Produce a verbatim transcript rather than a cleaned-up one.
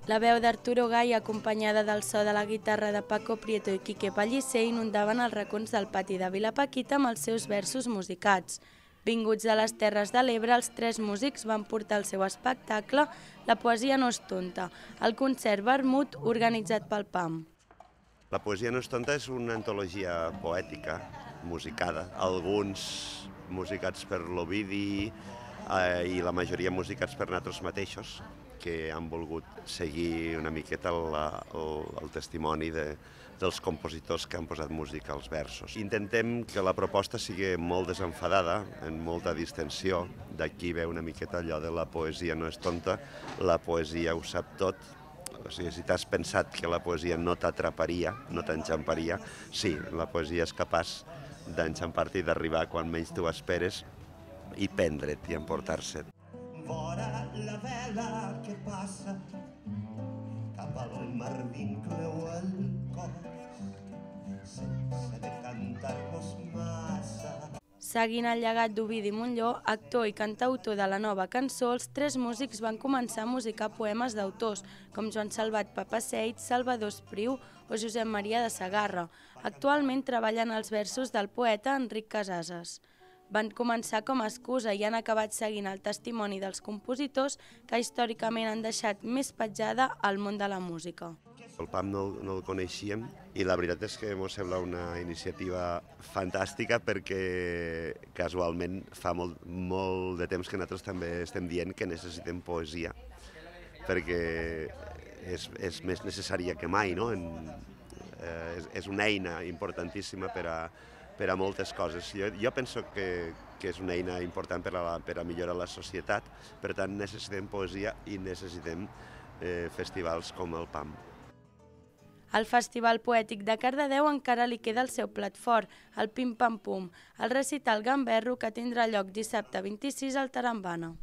La veu d'Arturo Gai, acompanyada del so de la guitarra de Paco Prieto i Quique Pellicer, inundaven els racons del pati de Vilapaquita amb els seus versos musicats. Vinguts de les Terres de l'Ebre, els tres músics van portar el seu espectacle La poesia no és tonta, el concert vermut organitzat pel P A M. La poesia no és tonta és una antologia poètica, musicada. Alguns musicats per l'Ovidi eh, i la majoria musicats per nosaltres mateixos, que han volgut seguir una miqueta el, el, el testimoni de, dels compositors que han posat música als versos. Intentem que la proposta sigui molt desenfadada, en molta distensió. D'aquí ve una miqueta allò de la poesia no és tonta, la poesia ho sap tot. O sigui, si t'has pensat que la poesia no t'atraparia, no t'enxamparia, sí, la poesia és capaç d'enxampar-te i d'arribar quan menys t'ho esperes i prendre't i emportar-se't. Vora la vela que passa cap al mar vincleu el cos sense decantar-vos massa. Seguint el llegat d'Ovidi Montllor, actor i cantautor de la nova cançó, els tres músics van començar a musicar poemes d'autors com Joan Salvat Papasseit, Salvador Espriu o Josep Maria de Segarra. Actualment treballen els versos del poeta Enric Casases. Van començar com a excusa i han acabat seguint el testimoni dels compositors que històricament han deixat més petjada al món de la música. El P A M no, no el coneixíem i la veritat és que ens sembla una iniciativa fantàstica perquè casualment fa molt, molt de temps que nosaltres també estem dient que necessitem poesia perquè és, és més necessària que mai, no? En, eh, és, és una eina importantíssima per a per a moltes coses. Jo, jo penso que, que és una eina important per a, per a millorar la societat, per tant necessitem poesia i necessitem eh, festivals com el P A M. Al Festival Poètic de Cardedeu encara li queda el seu plat fort, el Pim Pam Pum, el recital gamberro que tindrà lloc dissabte vint-i-sis al Tarambana.